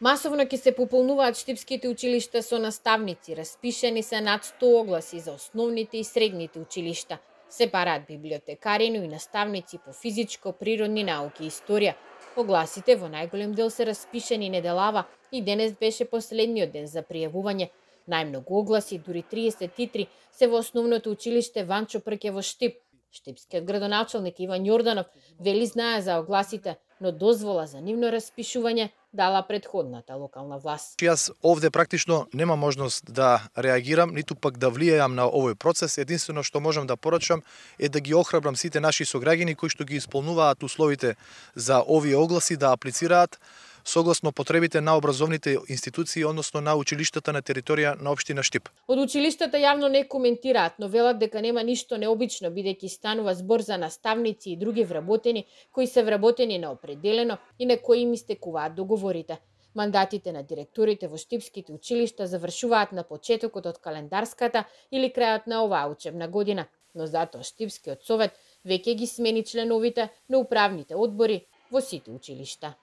Масовно ќе се пополнуваат штипските училишта со наставници, распишени се над 100 огласи за основните и средните училишта. Се бараат библиотекари, но и наставници по физичко, природни науки и историја. Огласите во најголем дел се распишени неделава и денес беше последниот ден за пријавување. Најмногу огласи, дури 33, се во основното училиште Ванчо Прке во Штип. Штипскиот градоначалник Иван Јорданов вели знае за огласите, но дозвола за нивно распишување дала претходната локална власт. Јас овде практично нема можност да реагирам, ниту пак да влијаам на овој процес. Единствено што можам да порачам е да ги охрабрам сите наши сограѓани кои што ги исполнуваат условите за овие огласи да аплицираат согласно потребите на образовните институции, односно на училиштата на територија на општина Штип. Од училиштата јавно не коментираат, но велат дека нема ништо необично, бидејќи станува збор за наставници и други вработени кои се вработени на определено и на кои им истекуваат договорите. Мандатите на директорите во штипските училишта завршуваат на почетокот од календарската или крајот на оваа учебна година, но затоа Штипскиот совет веќе ги смени членовите на управните одбори во сите училишта.